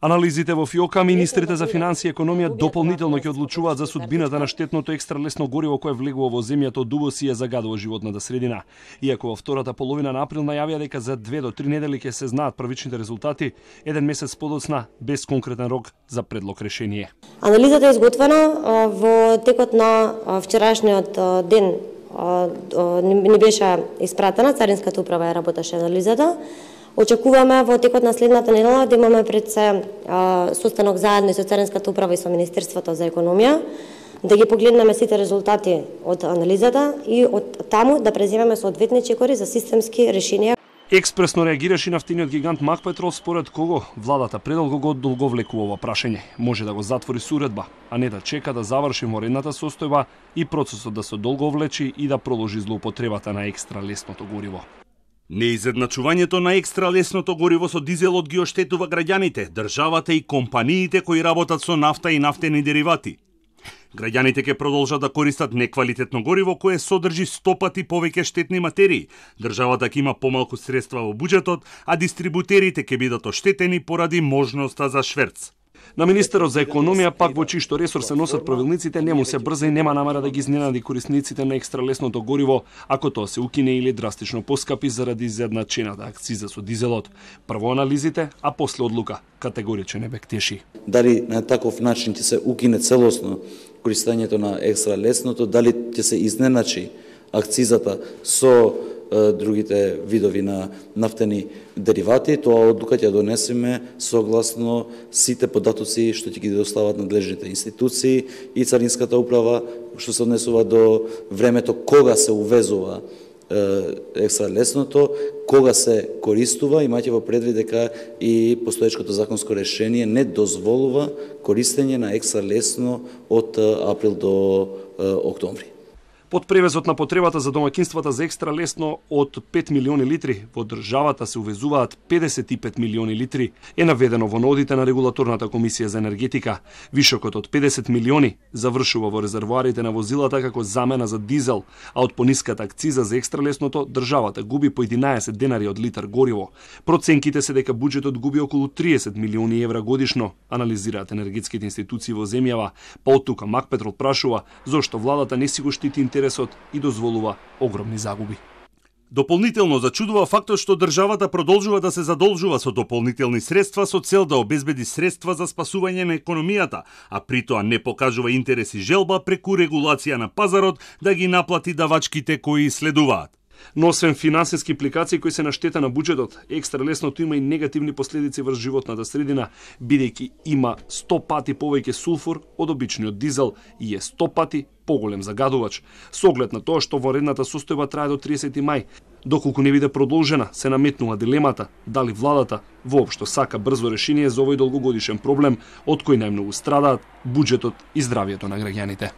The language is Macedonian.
Анализите во ФИОКа, министрите за финансии и економија дополнително ќе одлучуваат за судбината на штетното екстралесно гориво кое влегува во земјата од увоз и ја загадува животната средина. Иако во втората половина на април најавија дека за 2 до 3 недели ќе се знаат првичните резултати, еден месец подоцна без конкретен рок за предлог решение. Анализата е изготвена во текот на вчерашниот ден. Не беше испратена, Царинската управа ја работеше анализата. Очекуваме во текот на следната недела да имаме пред се состанок заедно со Царинската управа и со Министерството за економија, да ги погледнеме сите резултати од анализата и од таму да преземеме соодветни чекори за системски решенија. Експресно реагираше нафтениот гигант Макпетрол, според кого владата предолго го одолговлекува ова прашање. Може да го затвори со уредба, а не да чека да заврши воредната состојба и процесот да се одолговлечи и да продолжи злоупотребата на екстра лесното гориво. Неизедначувањето на екстра лесното гориво со дизелот ги оштетува граѓаните, државата и компаниите кои работат со нафта и нафтени деривати. Граѓаните ќе продолжат да користат неквалитетно гориво кое содржи 100 пати повеќе штетни материи. Државата ќе има помалку средства во буџетот, а дистрибутерите ќе бидат оштетени поради можноста за шверц. На министерот за економија, пак во чиј што ресор се носат правилниците, не му се брза и нема намера да ги изненади корисниците на екстралесното гориво, ако тоа се укине или драстично поскапи заради изедначената акциза со дизелот. Прво анализите, а после одлука. Категоричен ебек теши. Дали на таков начин ќе се укине целосно користењето на екстралесното, дали ќе се изненачи акцизата со другите видови на нафтени деривати, тоа одлука ќе донесеме согласно сите податоци што ќе ги достават надлежните институции и Царинската управа, што се однесува до времето кога се увезува екстралесното, кога се користува, имајќи во предвид дека и постоечкото законско решение не дозволува користење на екстралесно од април до октомври. Под превезот на потребата за домаќинствата за екстра лесно од 5 милиони литри, во државата се увезуваат 55 милиони литри, е наведено во нодите на Регулаторната комисија за енергетика. Вишокот од 50 милиони завршува во резервоарите на возилата како замена за дизел, а од пониската акциза за екстра лесното државата губи по 11 денари од литар гориво. Проценките се дека буџетот губи околу 30 милиони евра годишно, анализираат енергетските институции во земјава, па од тука Макпетрол прашува зошто владата не си го штити интересот и дозволува огромни загуби. Дополнително зачудува фактот што државата продолжува да се задолжува со дополнителни средства со цел да обезбеди средства за спасување на економијата, а при тоа не покажува интерес и желба преку регулација на пазарот да ги наплати давачките кои следуваат. Но освен финансиски импликации кои се на штета на буџетот, екстра лесното има и негативни последици врз животната средина, бидејќи има 100 пати повеќе сулфур од обичниот дизел и е 100 пати поголем загадувач. Со оглед на тоа што воредната состојба трае до 30 мај, доколку не биде продолжена, се наметнува дилемата дали владата воопшто сака брзо решение за овој долгогодишен проблем од кој најмногу страдаат буџетот и здравието на граѓаните.